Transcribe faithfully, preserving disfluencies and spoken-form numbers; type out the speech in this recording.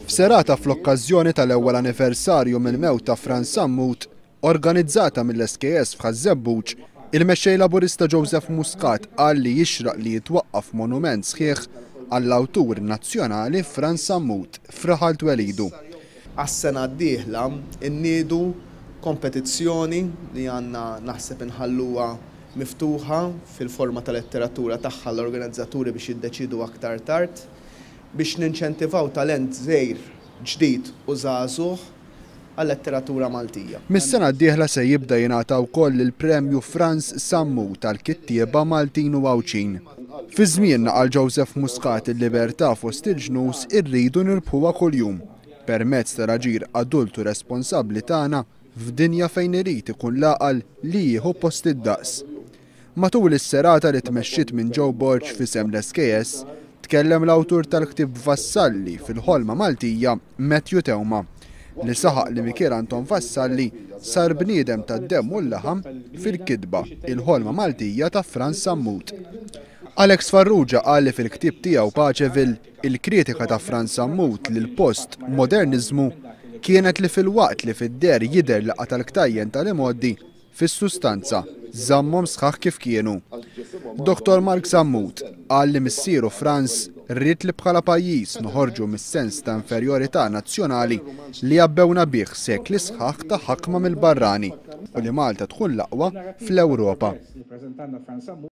F'serata fl-okkażjoni tal-ewwel anniversarju mill-mewt ta' Frans Sammut, organizzata mill-S K S f'Ħaż-Żebbuġ, il-mexxej Laburista Joseph Muscat qal li jixraq li jitwaqqaf monument sħiħ għall-awtur nazzjonali Frans Sammut f'raħal twelidu. Għas-sena d-dieħla inniedu kompetizzjoni li għandna naħseb inħalluha miftuħa fil-forma ta' letteratura tagħha l-organizzaturi biex jiddeċidu aktar tard, biex ninċentivaw talent żgħir, ġdid u żagħżugħ għal-letteratura Maltija. Mis-sena d-dieħla se jibda jingħata wkoll il-Premju Frans Sammut tal-kittieba Maltin u Għawdxin. Fi żmienna, qal Joseph Muscat, il-libertà fost il-ġnus irridu nirbħuha kuljum permezz tal-aġir adultu responsabbli tagħna f'dinja fejn irid ikun l-għaqal li jieħu post id-daqs. Matul is-serata li tmexxiet minn Joe Borg f'isem l-S K S, tkellem l-awtur tal-ktieb Vassalli fil-ħolma Maltija, Matthew Theuma, li saħaq li Mikiel Anton Vassalli sar bniedem tad-demm u l-laħam fil-kitba Il-ħolma Maltija ta' Frans Sammut. Alex Farrugia qal li fil-ktieb tiegħu Paċeville il-kritika ta' Frans Sammut lil post modernizmu kienet li filwaqt li fid-dehra jidher li qata' l-ktajjen tal-imgħoddi, fis-sustanza żammhom sħaħ kif kienu. Doktor Mark Sammut qal li missieru Frans ried li bħala pajjiż noħorġu mis-sens ta' inferjorità nazzjonali li għabbewna bih sekli sħaħ ta' ħakma mill-barrani u li Malta tkun l-aqwa fl-Ewropa.